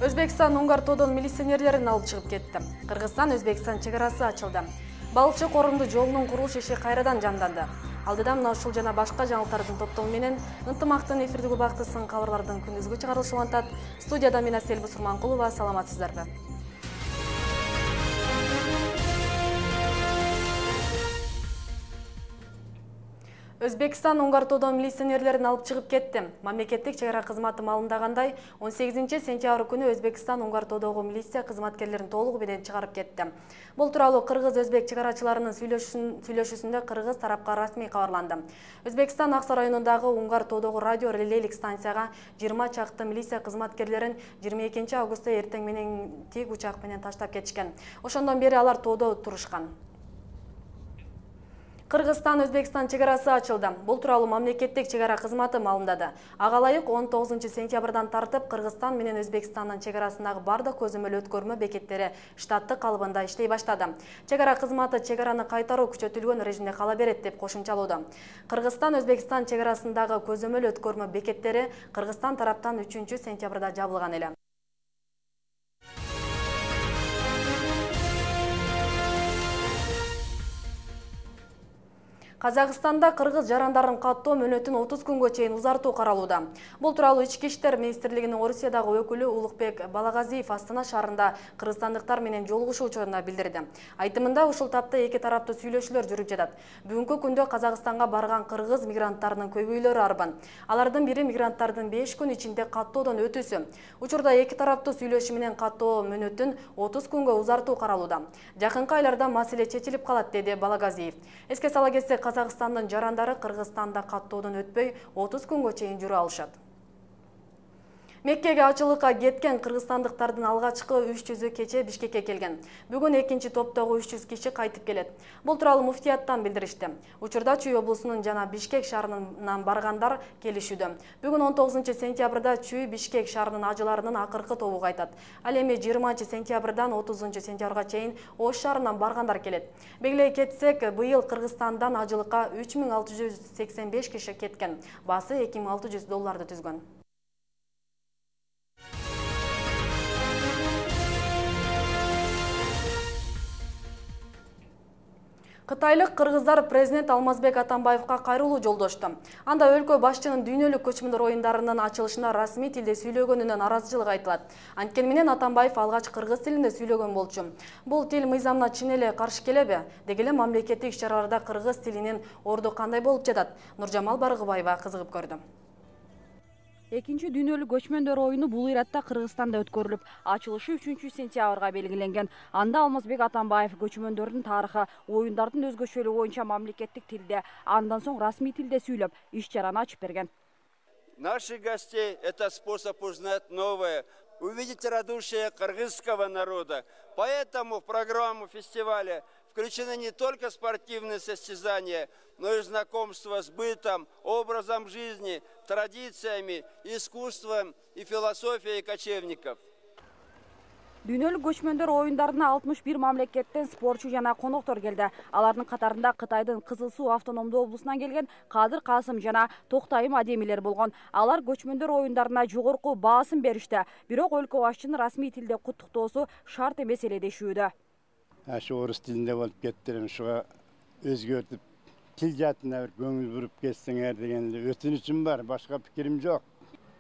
Өзбекстан Уңгар тоодон милиционерлерин алып чыгып кетти. Кыргызстан-Өзбекстан чегарасы ачылды. Балчы корунду жолунун курулуш иши кайрадан жанданды. Алдыда мына ушул жана башка жаңылыктардын топтому менен ынтымактын эфирдик убактысын кабарлардын күндүзгү чыгарылышы улантат. Студияда мен Асель Бусурманкулова, саламатсыздарбы? Өзбекстан Уңгар тоодон милиционерлерин алып чыгып кетти. Мамлекеттик чегара кызматы маалымдагандай, 18 сентябрь күнү Өзбекстан Уңгар тоодогу милиция кызматкерлерин толугу менен чыгарып кетти. Бул тууралуу кыргыз-өзбек чегарачыларынын сүйлөшүүсүндө кыргыз тарапка расмий кабарланды. Өзбекстан Аксай районундагы Уңгар тоодогу радио релейлик станцияга 20 чакты милиция кызматкерлерин 22 августта эртең менен тик учак менен таштап кетишкен. Ошондон бери алар тоодо турушкан. Кыргызстан-Өзбекстан чегарасы ачылды. Бул тууралуу мамлекеттик чегара кызматы маалымдады. Ага ылайык 19 сентябрдан тартып Кыргызстан менен Өзбекстандын чегарасындагы бардык көзөмөл өткөрмө бекеттери штаттык калыбында иштей баштады. Чегара кызматы чегараны кайтаруу күчөтүлгөн режимде кала берет деп кошумчалоодо. Кыргызстан-Өзбекстан чегарасындагы көзөмөл өткөрмө бекеттери Кыргызстан тараптан 3 сентябрда жабылган эле. Казакстанда кыргыз жарандарын каттоо мөөнөтүн 30 күнгө чейин узартуу каралууда. Бул тууралуу Ички иштер министрлигинин Орусиядагы өкүлү Улукбек Балагазиев Астана шаарында кыргызстандыктар менен жолугушуу учурунда билдирди. Айтымында ушул тапта эки тараптуу сүйлөшүүлөр жүрүп жатат. Бүгүнкү күндө Казакстанга барган кыргыз мигранттарынын көбөйлөрү арбан. Алардын бири мигранттардын 5 күн ичинде каттоодон өтүүсү. Учурда эки тараптуу сүйлөшүү менен каттоо мөөнөтүн 30 күнгө узартуу каралууда. Жакынкы айларда маселе чечилип калат, деди Балагазиев. Эске сала кетсек, Казакстандын жарандары Кыргызстанда каттоодон өтпөй 30 күнгө чейин жүрө алышат. Меккеге ачылыкка кеткен кыргызстандыктардын алгачкы 300-ü кече Бишкекке келген. Бүгүн экинчи топтогу 300 киши кайтып келет. Бул тууралуу муфтияттан билдиришти. Учурда Чүй облусунун жана Бишкек шаарынан баргандар келишүүдө. Бүгүн 19 сентябрда Чүй Бишкек шаарынын ажыларынын акыркы тобу кайтат. Ал эми 20 сентябрдан 30 сентябрга чейин Ош шаарынан баргандар келет. Белгилей кетсек, быйыл Кыргызстандан ажылыкка 3685 киши кеткен. Баасы $2600 түзгөн. Кытайлык кыргыздар президент Алмазбек Атамбаевка кайрылуу жолдошту. Анда өлкө башчынын дүйнөлүк көчмөндөр оюндарынын ачылышына расмий тилде сүйлөгөнүнө наразычылык айтылат. Анткени менен Атамбаев алгач кыргыз тилинде сүйлөгөн болчу. Бул тил мыйзамына чын эле каршы келеби? Деги эле мамлекеттик иш-чараларда кыргыз тилинин орду кандай болуп жатат? Нуржамал Баргыбаева кызыгып көрдү. Экинчи дүйнөлүк көчмөндөр оюну бул иратта Кыргызстанда өткөрүлүп, ачылышы 3 сентябрга белгиленген. Анда Алмазбек Атамбаев көчмөндөрдүн тарыхы, оюндардын өзгөчөлүгү боюнча мамлекеттик тилде, андан соң расмий тилде сүйлөп, иш-чараны ачып берген. Наших гостей это способ узнать новое, увидеть радушие кыргызского народа. Поэтому в программу фестиваля включены не только спортивные состязания, но и знакомство с бытом, образом жизни, традициями, искусством и философией кочевников. Дүйнөлүк көчмөндөр оюндарына 61 мамлекеттен спортчу жана коноктор келди. Алардын катарында Кытайдын Кызыл Суу автономдуу облусунан келген Кадыр Касым жана Токтайым Адемилер болгон. Алар көчмөндөр оюндарына жогорку баасын беришти. Бирок өлкө башчынын расмий тилде куттуктоосу шарт эмес эле дешүүдө. Ашы орус тилинде болуп кетти, ушуга өзгөртүп тил жаатына бир көңүл буруп кетсеңер деген өтүнүчүм бар, башка пикирим жок.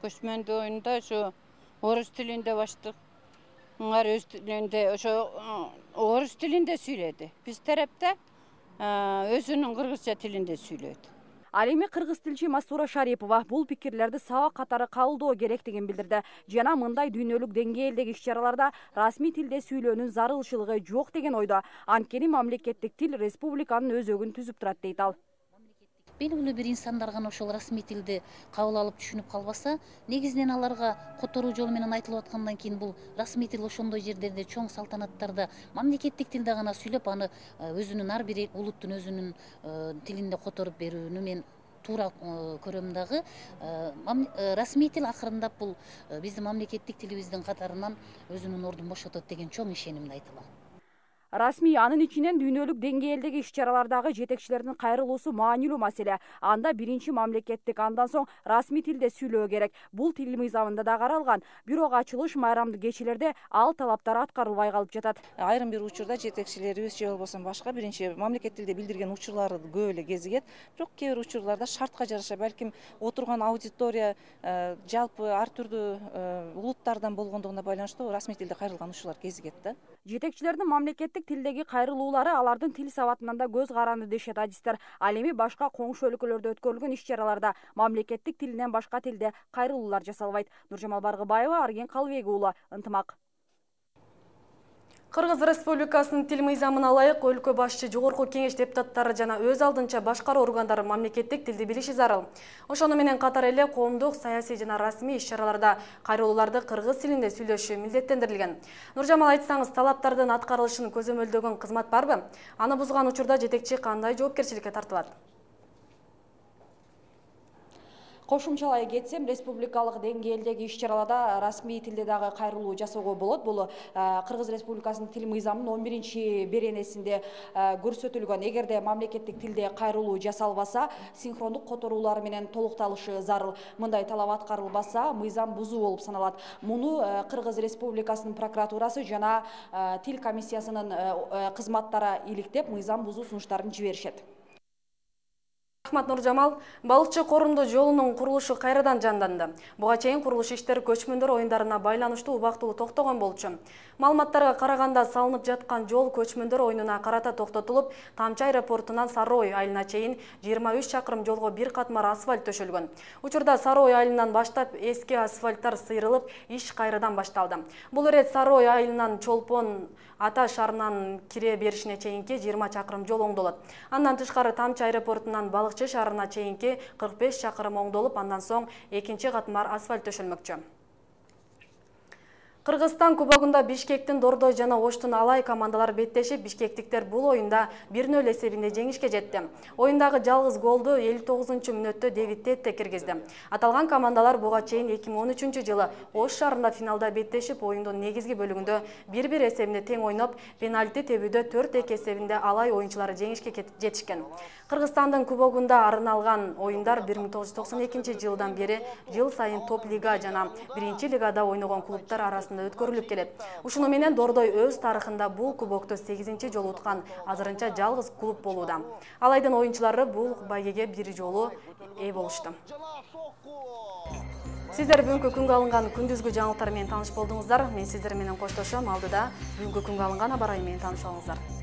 Көчмөндөр оюнда ошо орус тилинде баштык. Аңар өз тилинде, ошо орус тилинде сүйлөдү. Биз тарапта өзүнүн кыргызча тилинде сүйлөдү. Ал эми кыргыз тилчи Мастура Шарипова бул пикирлерди сабак катары кабылдоо керектигин билдирди. Жана мындай дүйнөлүк деңгээлдеги иш-чараларда расмий тилде сүйлөөнүн зарылчылыгы жок деген ойдо. Анткени мамлекеттик тил республиканын өзөгүн түзүп турат дейт ал. Белгилүү бир инсандар гана ошол расмий тилди кабыл алып түшүнүп калбаса, негизинен аларга которуу жолу менен айтылып аткандан кийин бул расмий тил ошондой жерлерде, чоң салтанаттарда мамлекеттик тилде гана сүйлөп, аны өзүнүн ар бир улуттун өзүнүн тилинде которуп берүүнү мен туура көрөм дагы. Расмий тил акырындап бул биздин мамлекеттик тилибиздин катарынан өзүнүн ордун бошотот деген чоң ишенимди айтылам. Расмий анын ичинен дүйнөлүк деңгээлдеги иш-чаралардагы жетекчилердин кайрылуусу маанилүү маселе. Анда биринчи мамлекеттик, андан соң расмий тилде сүйлөө керек. Бул тил мыйзамында да каралган. Бирок ачылыш майрамдык кечелерде ал талаптар аткарылбай калып жатат. Айрым бир учурда жетекчилерибиз же болбосо башка биринчи мамлекет тилде билдирген учурлары көп эле кезигет. Бирок кээ бир учурларда шартка жараша балким отурган аудитория жалпы ар түрдүү улуттардан болгондугуна байланыштуу расмий тилде кайрылган учурлар кезигет да. Жетекчилердин мамлекеттик тилдеги кайрылуулары алардын тил сабатынан да көз каранды дешет адистер. Ал эми башка коңшу өлкөлөрдө өткөрүлгөн иш-чараларда мамлекеттик тилинен башка тилде кайрылуулар жасалбайт. Нуржамал Баргыбаева, Арген Калыбек уулу, Ынтымак. Кыргыз Республикасынын тил мыйзамына ылайык өлкө башчы, жогорку кеңеш депутаттары жана өз алдынча башкаруу органдары мамлекеттик тилди билиши зарыл. Ошону менен катар эле коомдук, саясий жана расмий иш-чараларда кайрылууларды кыргыз тилинде сүйлөшүү милдеттендирилген. Нуржамал, айтсаңыз, талаптардын аткарылышын көзөмөлдөгөн кызмат барбы? Аны бузган учурда жетекчи кандай жоопкерчиликке тартылат? Кошумчалай кетсем, республикалык деңгээлдеги иш-чараларда расмий тилде дагы кайрылуу жасоого болот. Бул Кыргыз Республикасынын тил мыйзамынын 11-беренесинде көрсөтүлгөн. Эгерде мамлекеттик тилде кайрылуу жасалбаса, синхрондук которуулар менен толукталышы зарыл. Мындай талап аткарылбаса, мыйзам бузуу болуп саналат. Муну Кыргыз Республикасынын прокуратурасы жана тил комиссиясынын кызматтары иликтеп, мыйзам бузуу сунуштарын жиберишет. Рахмат, Нуржамал. Балыкчы корунду жолунун курулушу кайрадан жанданды. Буга чейин курулуш иштери көчмөндөр оюндарына байланыштуу убактылуу токтогон болчу. Маалыматтарга караганда, салынып жаткан жол көчмөндөр оюнуна карата токтотулуп, Тамчы аэропортунан Сары Ой айылына чейин 23 чакырым жолго бир катмар асфальт төшөлгөн. Учурда Сары Ой айылынан баштап эски асфальттар сыйрылып, иш кайрадан башталды. Бул ирет Сары Ой айылынан Чолпон Ата шаарынан кире беришине чейинки 20 чакырым жол оңдолот. Андан тышкары Тамчы аэропортунан Балыкчы шаарына чейинки 45 чакырым оңдолуп, андан соң экинчи катмар асфальт төшөлмөкчү. Кыргызстан кубогунда Бишкектин Дордой жана Оштун Алай командалар беттешип, бишкектиктер бул оюнда 1-0 эсебинде жеңишке жетти. Оюндагы жалгыз голду 59-мүнөттө Дэвид Тетте киргизди. Аталган командалар буга чейин 2013-жылы Ош шаарында финалда беттешип, оюндун негизги бөлүгүндө 1-1 эсебинде тең ойноп, пенальти тебүүдө 4-2 эсебинде Алай оюнчулары жеңишке жетишкен. Кыргызстандын кубогунда арналган оюндар 1992-жылдан бери жыл сайын топ лига жана 1-лигада ойногон клубтар арасында өткөрүлүп келет. Ушуну менен Дордой өз тарыхында бул кубокту 8-чи жолу уткан азырынча жалгыз клуб болууда. Алайдын оюнчулары бул байгеге бир жолу ээ болушту. Сиздер бүгүнкү күнгө алынган күндүзгү жаңылыктар менен тааныш болдуңуздар. Мен сиздер менен коштошом. Алдыда бүгүнкү күнгө алынган абар айы менен тааныш болуңуздар.